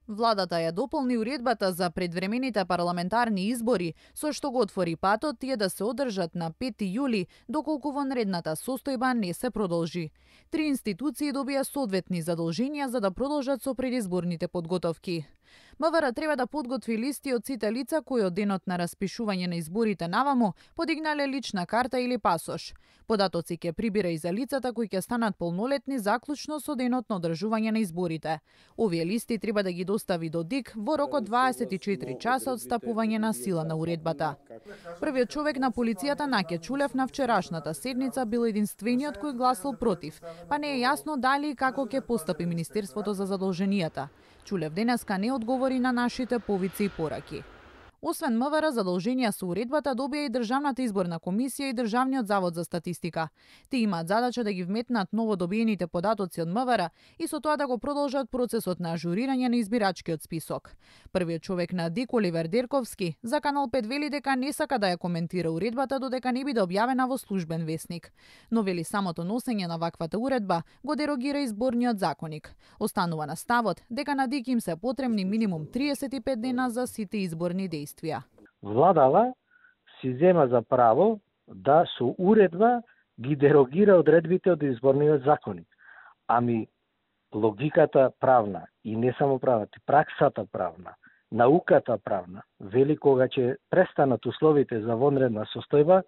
Владата ја дополни уредбата за предвремените парламентарни избори, со што го отвори патот тие да се одржат на 5 јули, доколку вонредната состојба не се продолжи. 3 институции добија соодветни задолженија за да продолжат со предизборните подготовки. МВР треба да подготви листи од сите лица кои од денот на распишување на изборите наваму подигнале лична карта или пасош. Податоци ќе прибира и за лицата кои ќе станат полнолетни заклучно со денот на одржување на изборите. Овие листи треба да ги достави до ДИК во рок од 24 часа од стапување на сила на уредбата. Првиот човек на полицијата Наке Чулев на вчерашната седница бил единствениот кој гласал против, па не е јасно дали и како ќе постапи Министерството за задолженијата. Чулев денеска не одговори на нашите повици и пораки. Освен МВР, задолженија со уредбата добија и Државната изборна комисија и Државниот завод за статистика. Тие имаат задача да ги вметнат новодобиените податоци од МВР и со тоа да го продолжат процесот на ажурирање на избирачкиот список. Првиот човек на ДИК, Оливер Дерковски, за Канал 5 вели дека не сака да ја коментира уредбата додека не биде објавена во службен весник. Но вели самото носење на ваквата уредба го дерогира изборниот законник. Останува на ставот дека на ДИК им се потребни минимум 35 дена за сите изборни действија. Владава си зема за право да со уредба ги дерогира одредбите од изборниот законник. Ами логиката правна и не само правата, праксата правна, науката правна, вели кога ќе престанат условите за вонредна состојба,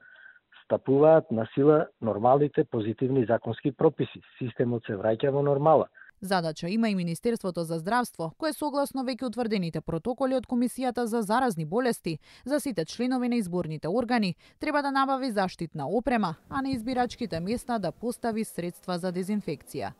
стапуваат на сила нормалните позитивни законски прописи. Системот се враќа во нормала. Задача има и Министерството за здравство, кое согласно веќе утврдените протоколи од Комисијата за заразни болести за сите членови на изборните органи треба да набави заштитна опрема, а на избирачките места да постави средства за дезинфекција.